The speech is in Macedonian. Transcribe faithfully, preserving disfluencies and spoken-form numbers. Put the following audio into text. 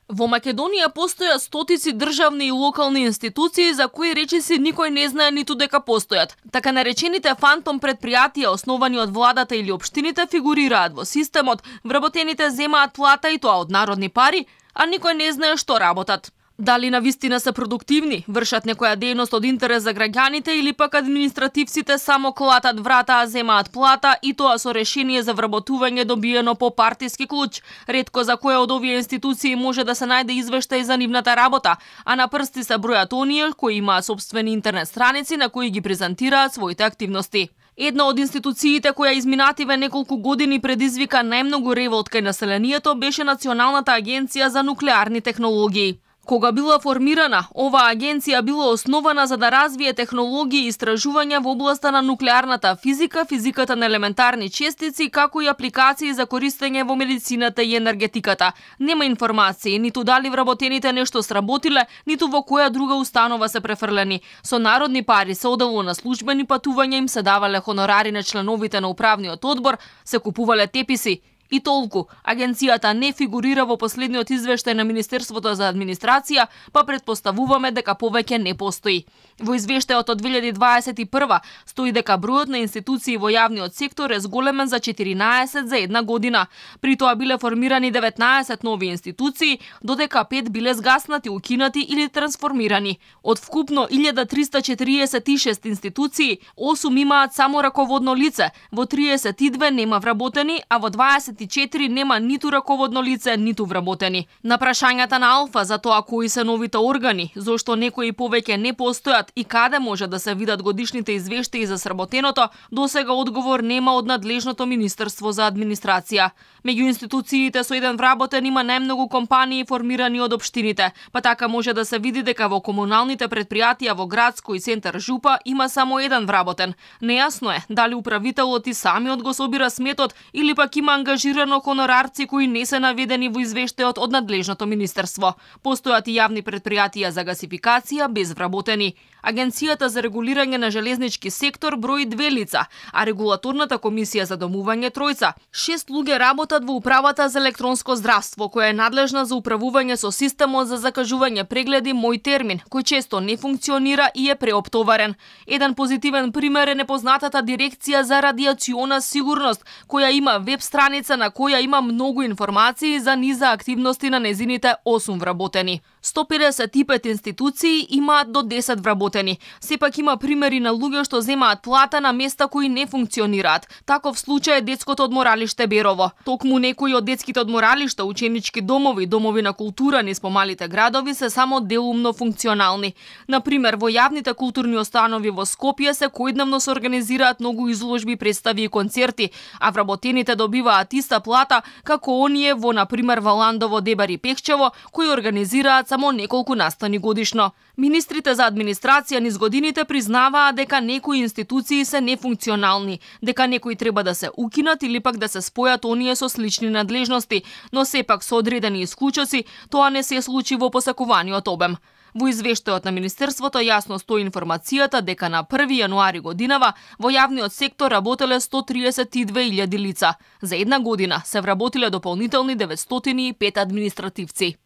Во Македонија постоја стотици државни и локални институции за кои речиси никој не знае ниту дека постојат. Така наречените фантом предпријатија основани од владата или општините фигурираат во системот, вработените земаат плата и тоа од народни пари, а никој не знае што работат. Дали навистина се продуктивни, вршат некоја дејност од интерес за граѓаните или пак административците само клатат врата, а земаат плата и тоа со решение за вработување добиено по партиски клуч. Ретко за која од овие институции може да се најде извештај за нивната работа, а на прсти се бројат оние кои имаат сопствени интернет страници на кои ги презентираат своите активности. Една од институциите која изминативе неколку години предизвика најмногу револт кај населението беше Националната агенција за нуклеарни технологии. Кога била формирана, оваа агенција била основана за да развие технологии и истражувања во областа на нуклеарната физика, физиката на елементарни честици, како и апликации за користење во медицината и енергетиката. Нема информации ниту дали вработените нешто сработиле, ниту во која друга установа се префрлени. Со народни пари се одело на службени патувања, им се давале хонорари на членовите на управниот одбор, се купувале теписи. И толку, агенцијата не фигурира во последниот извештај на Министерството за администрација, па предпоставуваме дека повеќе не постои. Во извештајот од две илјади дваесет и прва стои дека бројот на институции во јавниот сектор е зголемен за четиринаесет за една година. При тоа биле формирани деветнаесет нови институции, додека пет биле згаснати, укинати или трансформирани. Од вкупно илјада триста четириесет и шест институции, осум имаат само раководно лице, во триесет и две нема вработени, а во дваесет и четири нема ниту раководно лице, ниту вработени. На прашањата на Алфа за тоа кои се новите органи, зошто некои повеќе не постојат и каде може да се видат годишните извештаи за сработеното, досега одговор нема од надлежното Министерство за администрација. Меѓу институциите со еден вработен има најмногу компании формирани од општините, па така може да се види дека во комуналните предпријатија во градско и центар Жупа има само еден вработен. Нејасно е дали управителот и самиот го собира сметот или пак има ангажирано хонорарци кои не се наведени во извештајот од надлежното министерство. Постојат и јавни предпријатија за гасификација без вработени. Агенцијата за регулирање на железнички сектор брои две лица, а регулаторната комисија за домување тројца. Шест луѓе работат во управата за електронско здравство, која е надлежна за управување со системот за закажување прегледи Мој термин, кој често не функционира и е преоптоварен. Еден позитивен пример е непознатата дирекција за радиациона сигурност, која има веб страница на која има многу информации за низа активности на незините осум вработени. сто педесет и пет институции имаат до десет вработени. Сепак има примери на луѓе што земаат плата на места кои не функционираат. Таков случај е детското одморалиште Берово. Токму некои од детските одморалишта, ученички домови, домови на култура низ помалите градови се само делумно функционални. Например, во јавните културни установи во Скопје се којдневно се организираат многу изложби, представи и концерти, а вработените добиваат иста плата како оние во, например, Валандово, Дебар и Пехчево, кои организираат само неколку настани годишно. Министрите за администрација низ годините признаваа дека некои институции се нефункционални, дека некои треба да се укинат или пак да се спојат оние со слични надлежности, но сепак со одредени исклучоци тоа не се случи во посакуваниот обем. Во извештајот на Министерството јасно стои информацијата дека на први јануари годинава во јавниот сектор работеле сто триесет и две илјади лица. За една година се вработиле дополнителни деветстотини и пет административци.